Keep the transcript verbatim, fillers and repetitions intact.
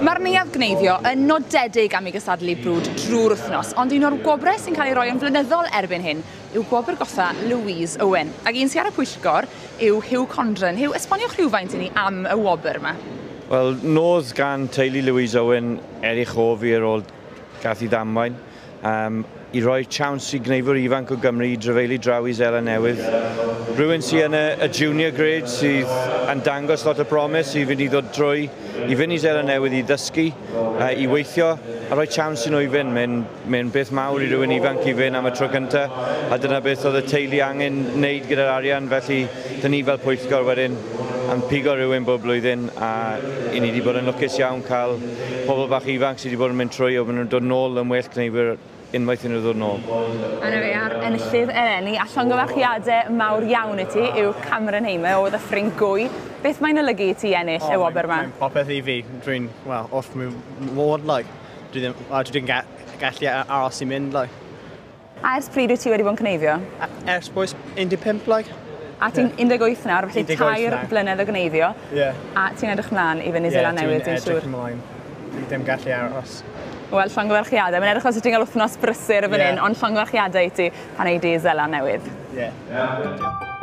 Mae'r Neuadd Gneifio yn nodedig am ei gystadlu brwd drwy'r wythnos, ond un o'r gwobrau sy'n cael ei roi yn flynyddol erbyn hyn yw gwobr goffa Louise Owen. Ac un sy'n ar y pwyllgor yw Hugh Condren. Hugh, esboniwch rhywfaint i ni am y wobr yma. Wel, nodd gan teulu Louise Owen er ei chof hi ar ôl gath ei ddamwain. Um, i roi chance i gneifwyr ifanc o Gymru i drafeili draw i Seland Newydd. Rhywun sydd yn y, y junior grade sydd yn dangos lot o promise i fynd i ddod drwy, i fynd i Seland Newydd i ddysgu, uh, i weithio, a rhoi chance i nhw i fynd. Mae'n mae beth mawr i rhywun ifanc i fynd am y tro cyntaf, a dyna beth oedd y teulu angen wneud gyda'r arian, felly dyn ni fel pwyllgor wedyn yn pigo rhywun bob blwyddyn, a i ni wedi bod yn lwcus iawn cael pobl bach ifanc sydd wedi bod yn mynd trwy, o maen nhw'n dod nôl yn well gneifwyr unwaith i nhw ddod nôl. A na fe, a'r enillydd eleni, a llongyfarchiadau mawr iawn i ti yw Cameron Hamer o Ddyffryn Gwy. Beth mae'n olygu i ti ennill oh, y wobr yma? Mae'n popeth i fi. Dwi'n, well, off my ward, like. Dwi ddim, dwi ddim gallu aros i mynd, like. A ers pryd wyt ti wedi bod yn cneifio? Ers bois un deg pump, like. A ti'n un deg wyth nawr, felly tair blynedd o gneifio. Yeah. A ti'n edrych mlaen i fynd i yeah, Seland Newydd, dwi'n siŵr. Dwi'n edrych ymlaen. Dwi ddim gallu aros. Wel, llongyfarchiadau. Mae'n edrych fel ti'n cael wythnos brysur y fan hyn, yeah. ond llongyfarchiadau i ti pan ei di Seland Newydd. Yeah. Yeah.